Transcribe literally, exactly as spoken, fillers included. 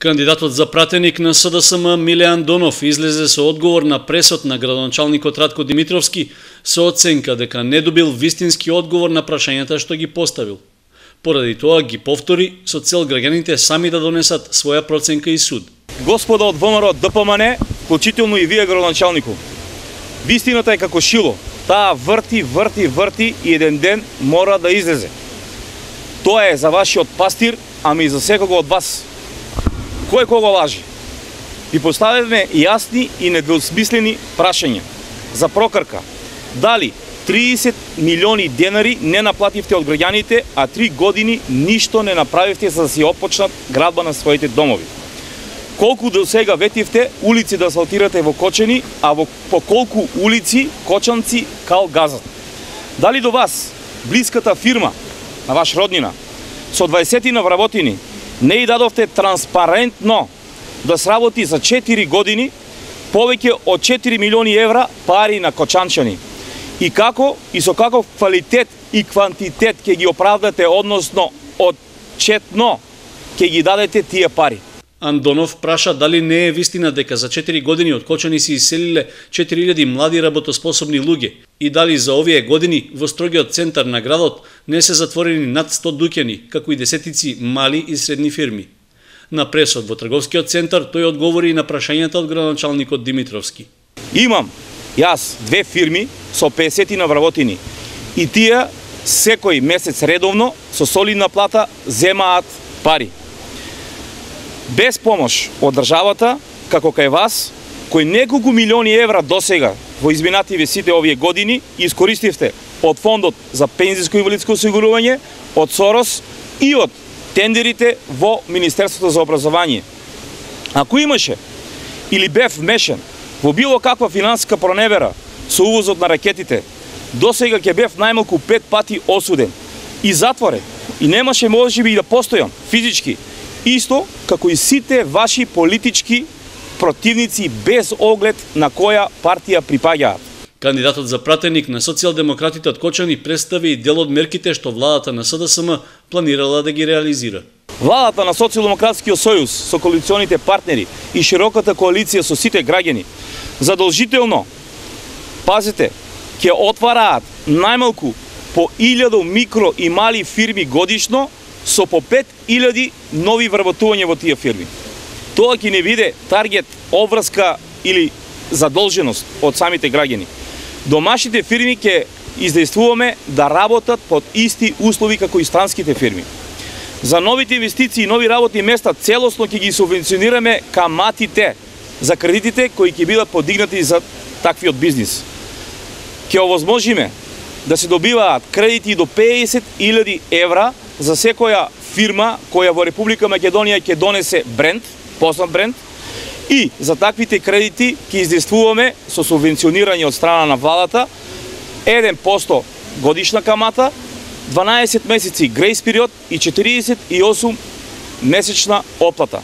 Кандидатот за пратеник на С Д С М Миле Андонов излезе со одговор на пресот на градоначалникот Ратко Димитровски со оценка дека не добил вистински одговор на прашањата што ги поставил. Поради тоа ги повтори со цел граѓаните сами да донесат своја проценка и суд. Господа од Во М Р Д П М Н, вклучително и вие градоначалнику, вистината е како шило. Таа врти, врти, врти и еден ден мора да излезе. Тоа е за вашиот пастир, ами и за секого од вас. Кој кого лажи? Ви поставивме јасни и недвосмислени прашања за прокрка. Дали триесет милиони денари не наплативте од граѓаните, а три години ништо не направивте за да си опочнат градба на своите домови? Колку до сега ветивте улици да асфалтирате во Кочани, а во по колку улици кочанци кал газат? Дали до вас, блиската фирма на ваш роднина, со дваесет на вработини, не и дадовте транспарентно да сработи за четири години повеќе од четири милиони евра пари на кочанчани? И како и со каков квалитет и квантитет ќе ги оправдате, односно отчетно ќе ги дадете тие пари? Андонов праша дали не е вистина дека за четири години од Кочани се иселиле четири илјади млади работоспособни луѓе и дали за овие години во строгиот центар на градот не се затворени над сто дуќани, како и десетици мали и средни фирми. На пресот во трговскиот центар тој одговори и на прашањата од градоначалникот Димитровски. Имам јас две фирми со песет на вработини и тие секој месец редовно со солидна плата земаат пари. Без помош од државата, како кај вас, кој неколку милиони евра досега во изминативе сите овие години искористивте од фондот за пензиско и инвалидско осигурување, од Сорос и од тендерите во Министерството за образование. Ако имаше или бев вмешен во било каква финансиска проневера со увозот на ракетите, досега ќе бев најмалку пет пати осуден и затворен и немаше можеби и да постојам физички, исто како и сите ваши политички противници без оглед на која партија припаѓаат. Кандидатот за пратеник на социјалдемократите од Кочани представи и дел од мерките што владата на С Д С М планирала да ги реализира. Владата на Социјалдемократскиот сојуз со коалиционите партнери и широката коалиција со сите граѓани задолжително, пазите, ќе отвараат најмалку по илјада микро и мали фирми годишно со по пет илјади нови вработувања во тие фирми. Тоа ќе не биде таргет, обврска или задолженост од самите граѓани. Домашните фирми ќе издействуваме да работат под исти услови како и странските фирми. За новите инвестиции и нови работни места целосно ќе ги субвенционираме каматите за кредитите кои ќе бидат подигнати за таквиот бизнис. Ќе овозможиме да се добиваат кредити до песет илјади евра за секоја фирма која во Република Македонија ќе донесе бренд, познат бренд, и за таквите кредити ќе издействуваме со субвенционирање од страна на владата еден процент годишна камата, дванаесет месеци грејс период и четириесет и осум месечна оплата.